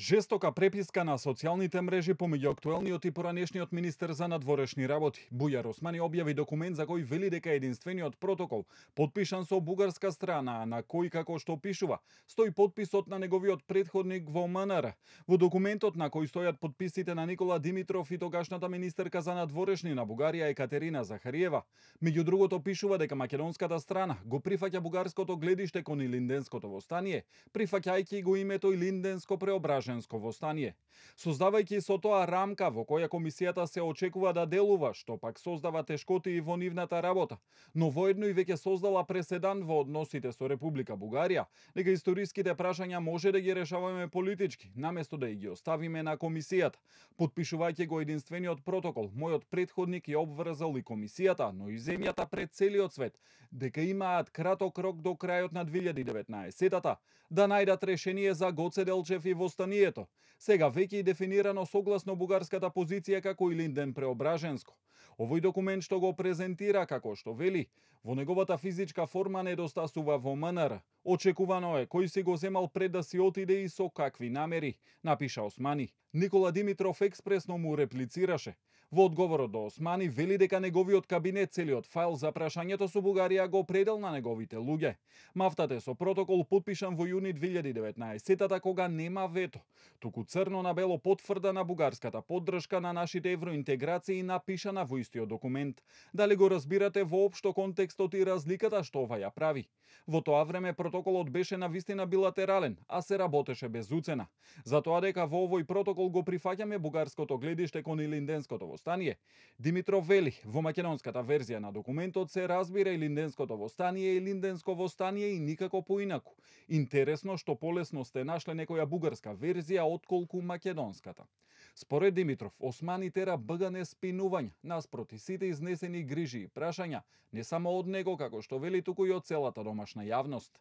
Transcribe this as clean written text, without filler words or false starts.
Жестока преписка на социјалните мрежи помеѓу актуелниот и поранешниот министер за надворешни работи. Бујар Османи објави документ за кој вели дека единствениот протокол, потпишан со бугарска страна, на кој, како што пишува, стои потписот на неговиот претходник во МНР. Во документот на кој стојат потписите на Никола Димитров и тогашната министерка за надворешни на Бугарија Екатерина Захариева. Меѓу другото пишува дека македонската страна го прифаќа бугарското гледиште кон Илинденското востание, прифаќајќи го името Илинденско преображенско востание, создавајќи со тоа рамка во која комисијата се очекува да делува, што пак создава тешкоти и во нивната работа, но воедно и веќе создала преседан во односите со Република Бугарија, дека историските прашања може да ги решаваме политички, наместо да ги оставиме на комисијата. Потпишувајќи го единствениот протокол, мојот претходник ја обврзал и комисијата, но и земјата пред целиот свет, дека имаат краток рок до крајот на 2019-та да најдат решение за Гоце Делчев и востанието. Сега веќе и дефинирано согласно бугарската позиција како Илинден преображенско. Овој документ што го презентира како што вели, во неговата физичка форма недостасува во МНР. Очекувано е кој си го земал пред да си отиде и со какви намери, напиша Османи. Никола Димитров експресно му реплицираше. Во одговорот до Османи вели дека неговиот кабинет целиот файл за прашањето со Бугарија го предел на неговите луѓе. Мафтате со протокол потпишан во јуни 2019-та кога нема вето, туку црно на бело потврда на бугарската поддршка на нашите евроинтеграции напишана во истиот документ. Дали го разбирате воопшто контекстот и разликата што ова ја прави? Во тоа време протоколот беше на вистина билатерален, а се работеше без уцена. Затоа дека во овој протокол го прифаќаме бугарското гледиште кон Илинденското востание. Димитров вели, во македонската верзија на документот се разбира Илинденското востание и Илинденско востание и никако поинаку. Интересно што полесно сте нашле некоја бугарска верзија отколку македонската. Според Димитров, Османи тера БГН спинувања наспроти сите изнесени грижи и прашања, не само од него како што вели, туку и од целата домашна јавност.